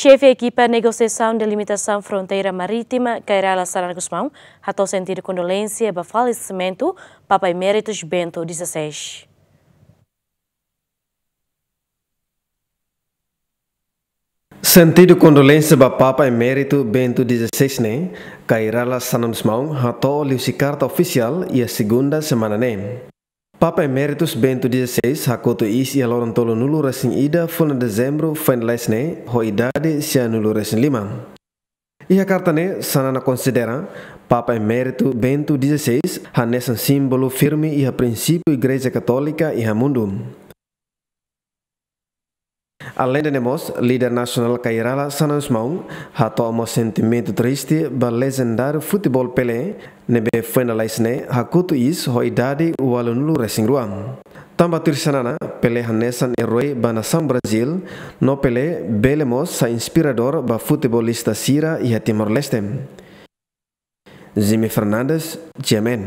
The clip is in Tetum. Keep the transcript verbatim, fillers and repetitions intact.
Xefe ekipa negosiasaun delimitasaun fronteira marítima, Kay Rala Xanana Gusmão, hato'o sentidu kondolénsia ba falesimentu Papa Emeritus Bento dezasseis. Sentidu kondolénsia ba Papa Emeritu Bento dezasseis ne'e, Kay Rala Xanana Gusmão hato'o liuhusi karta ofisiál iha segunda semana ne'e. Papa Emeritus Bento dezasseis hakotu iis iha loron tolunulu-resin-ida fulan Dezembru foin lalais ne'e, ho idade sianulu-resin-lima. Iha karta ne'e, Xanana konsidera Papa Emeritu Bento dezasseis hanesan símbolu firme iha prinsípiu Igreja Katólika iha mundu. Aleinde ne'e mós, líder nasionál Kay Rala Xanana Gusmão hato'o mós sentimentu triste ba lejendáriu futeból Pelé, ne'ebé foin lalais ne'e hakotu iis ho idade ualunulu-resin-rua. Tanba tuir Xanana, Pelé hanesan erói ba nasaun Brazíl, no Pelé bele mós sai inspiradór ba futebolista sira iha Timor-Leste. Jimmy Fernandes, G M N.